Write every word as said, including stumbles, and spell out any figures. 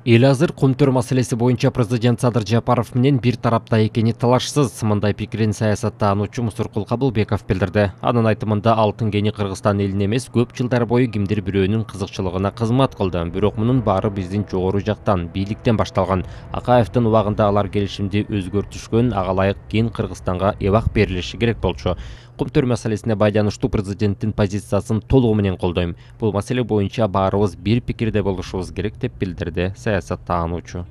Эл азыр Кумтөр маселеси боюнча президент Садыр Жапаров менен бир тарапта экени талашсыз. Мындай пикирин саясаттануучу Мусуркул Кабылбеков билдирди. Анын айтымында алтын кени Кыргызстан элине эмес, көп жылдар бою кимдир бирөөнүн кызыкчылыгына кызмат кылды. Бирок мунун баары биздин жогору жактан, бийликтен башталган. Акаевдин убагында алар келишимди өзгөртүшкөн, ага ылайык кен Кыргызстанга эбак берилиши керек болчу. Кумтөр маселесине байланыштуу президенттин позициясын толугу менен колдойм. Бул маселе боюнча баарыбыз бир пикирде болушубуз керек деп билдирди саясаттануучу.